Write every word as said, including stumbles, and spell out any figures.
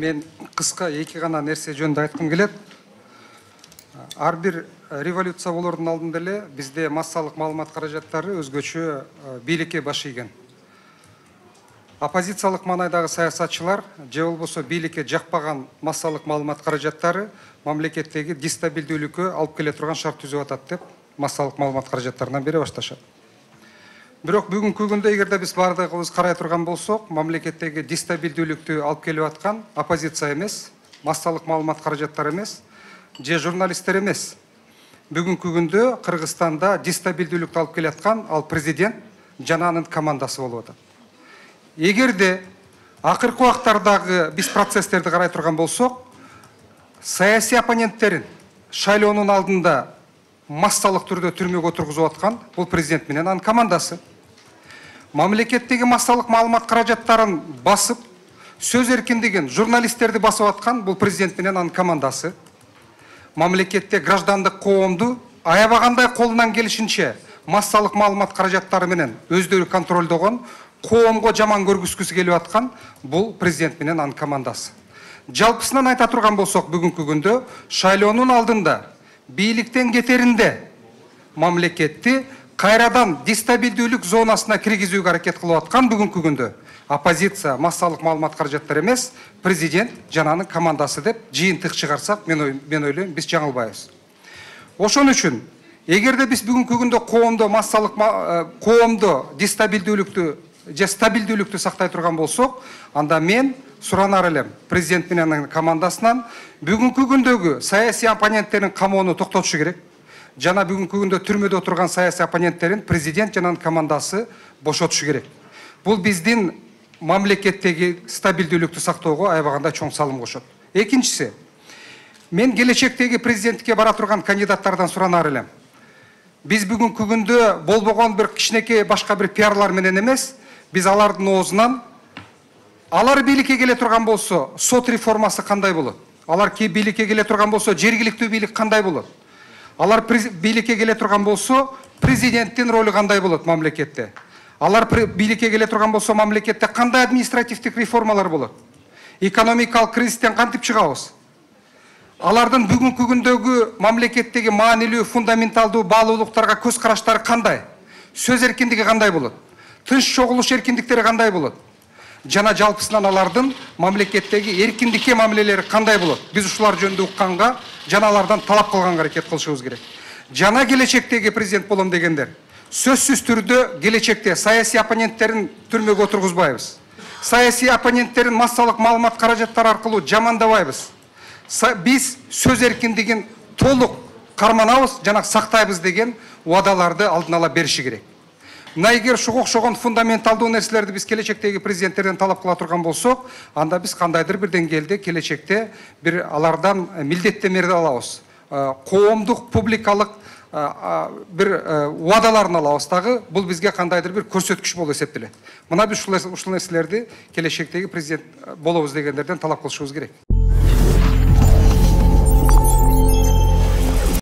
Мен кыска эки гана нерсе жөнүндө айткым келет. Ар бир революция болордун алдында эле бизде массалык маалымат каражаттары өзгөчө бийликке баш ийген. Оппозициялык маанайдагы саясатчылар же болбосо бийликке жакпаган массалык маалымат каражаттары мамлекеттеги дестабилдүүлүккө алып келе турган шарт түзүп атат деп массалык маалымат каражаттарынан бере башташат. Бирок бүгүнкү күндө эгерде биз бардыгыбыз карай турган болсок, мамлекеттеги дестабилдүүлүктү алып келип аткан оппозиция эмес, массалык маалымат каражаттары эмес, же журналисттер эмес. Бүгүнкү күндө Кыргызстанда дестабилдүүлүктү алып келе аткан ал президент жана анын командасы болуп атат. Эгерде акыркы убактардагы биз процесстерди карай турган болсок, саясий оппоненттерин шайлоонун алдында массалык түрдө түрмөгө отургузуп аткан бул президент менен анын командасы. Мамлекеттеги массалык маалымат каражаттарын басып, сөз эркиндигин, журналисттерди басып аткан бул президент менен анын командасы. Мамлекетте граждандык коомду аябагандай колунан келишинче массалык маалымат каражаттары менен өздөрү контролдогон, коомго жаман көргүзгүсү келип аткан бул президент менен анын командасы. Жалпысынан айта турган болсок, бүгүнкү күндө шайлоонун алдында бийликтен кетеринде мамлекетти кайрадан дестабилдүүлүк зонасына киргизүүгө аракет кылып аткан бүгүнкү күндө оппозиция, массалык маалымат каражаттары эмес, президент жана анын командасы деп жыйынтык чыгарсак, мен мен ойлойм, биз жаңылбайбыз. Ошон үчүн эгерде биз бүгүнкү күндө коомдо массалык коомдо дестабилдүүлүктү же стабилдүүлүктү сактай турган болсок, анда мен суранар элем президент менен анын командасынан бүгүнкү күндөгү саясий оппоненттерин камоону токтотушу керек. Жана бүгүнкү күндө түрмөдө отурган саясий оппоненттерин президент жана анын командасы бошотушу керек. Бул биздин мамлекеттеги стабилдүүлүктү сактоого аябагандай чоң салым кошот. Экинчиси, мен келечектеги президенттикке бара турган кандидаттардан суранар элем. Биз бүгүнкү күндө болбогон бир кичинекей башка бир пиарлар менен эмес, биз алардын оозунан алар бийликке келе турган болсо, сот реформасы кандай болот? Алар ки бийликке келе турган болсо, жергиликтүү бийлик кандай болот? Алар бийликке келе турган болсо, президенттин ролу кандай болот мамлекетте? Алар бийликке келе турган болсо, мамлекетте кандай административдик реформалар болот? Экономикалык кризистен кантип чыгабыз? Алардын бүгүнкү күндөгү мамлекеттеги маанилүү, фундаменталдуу баалуулуктарга көз караштары кандай? Сөз эркиндиги кандай болот? Тынч чогулуш эркиндиктери кандай болот? Жана жалпысынан алардын мамлекеттеги эркиндикке мамилелери кандай болот? Биз ушулар жөнүндө укканга, жана алардан талап кылганга аракет кылышыбыз керек. Жана келечектеги президент болом дегендер сөзсүз түрдө келечекте саясий оппоненттерин түрмөгө отургузбайбыз. Саясий оппоненттерин массалык маалымат каражаттары аркылуу жамандабайбыз. Биз сөз эркиндигин толук карманабыз жана сактайбыз деген убадаларды алдын ала бериши керек. Мына эгер ушуга окшогон фундаменталдуу нерселерди биз келечектеги президенттерден талап кыла турган болсок, анда биз кандайдыр бир деңгээлде келечекте бир алардан милдеттенмелер алабыз. Коомдук, публикалык бир убадаларын алабыз дагы, бул бизге кандайдыр бир көрсөткүч болуп эсептелет. Мына биз ушул нерселерди келечектеги президент болобуз дегендерден талап кылышыбыз керек.